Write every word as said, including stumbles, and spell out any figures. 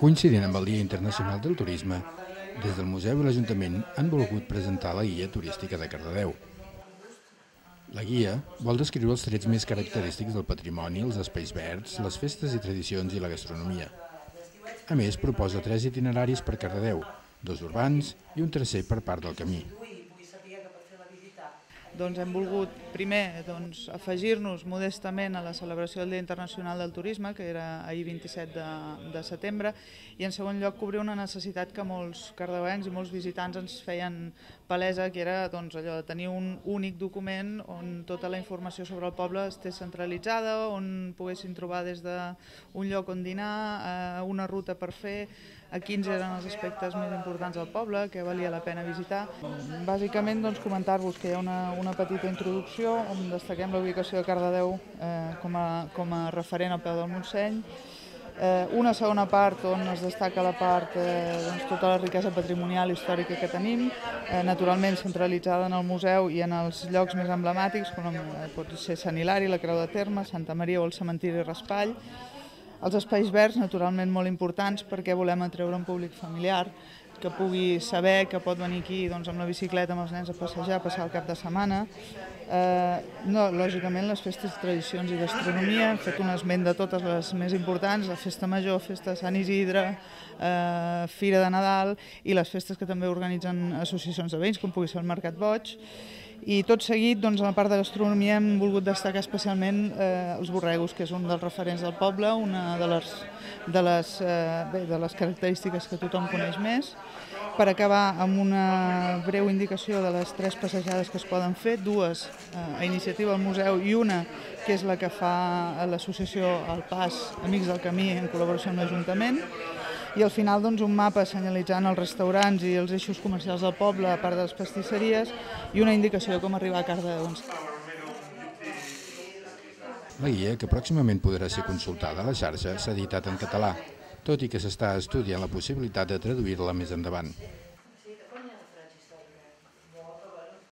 Coincidint amb el Dia Internacional del Turisme, des del Museu i l'Ajuntament han volgut presentar la guia turística de Cardedeu. La guia vol descriure els trets més característics del patrimoni, els espais verds, les festes i tradicions i la gastronomia. A més, proposa tres itineraris per Cardedeu, dos urbans i un tercer per part del camí. Doncs hem volgut, primer, doncs, afegir-nos modestament a la celebració del Dia Internacional del Turisme, que era ahir vint-i-set de, de setembre, i en segon lloc cobrir una necessitat que molts cardedeuencs i molts visitants ens feien palesa, que era doncs, allò de tenir un únic document on tota la informació sobre el poble estés centralitzada, on poguessin trobar des d'un lloc on dinar, eh, una ruta per fer, a quins eren els aspectes més importants del poble, que valia la pena visitar. Bàsicament doncs, comentar-vos que hi ha una, una petita introducció on destaquem la ubicació de Cardedeu eh, com, a, com a referent al peu del Montseny, eh, una segona part on es destaca la part, eh, doncs, tota la riquesa patrimonial i històrica que tenim, eh, naturalment centralitzada en el museu i en els llocs més emblemàtics, com eh, pot ser Sant Hilari, la Creu de Terme, Santa Maria o el cementiri Raspall. Els espais verds, naturalment, molt importants perquè volem atreure un públic familiar que pugui saber que pot venir aquí doncs, amb la bicicleta amb els nens a passejar, a passar el cap de setmana. Eh, no, lògicament, les festes, tradicions i gastronomia, hem fet un esment de totes les més importants, la Festa Major, Festa de Sant Isidre, eh, Fira de Nadal i les festes que també organitzen associacions de veïns, com pugui ser el Mercat Boig. I tot seguit, doncs, a la part de gastronomia hem volgut destacar especialment eh, els borregos, que és un dels referents del poble, una de les, de les, eh, bé, de les característiques que tothom coneix més. Per acabar amb una breu indicació de les tres passejades que es poden fer, dues eh, a iniciativa del museu i una que és la que fa l'associació El Pas Amics del Camí en col·laboració amb l'Ajuntament. I al final doncs, un mapa senyalitzant els restaurants i els eixos comercials del poble, a part de les pastisseries, i una indicació de com arribar a Cardedeu. La guia, que pròximament podrà ser consultada a la xarxa, s'ha editat en català, tot i que s'està estudiant la possibilitat de traduir-la més endavant.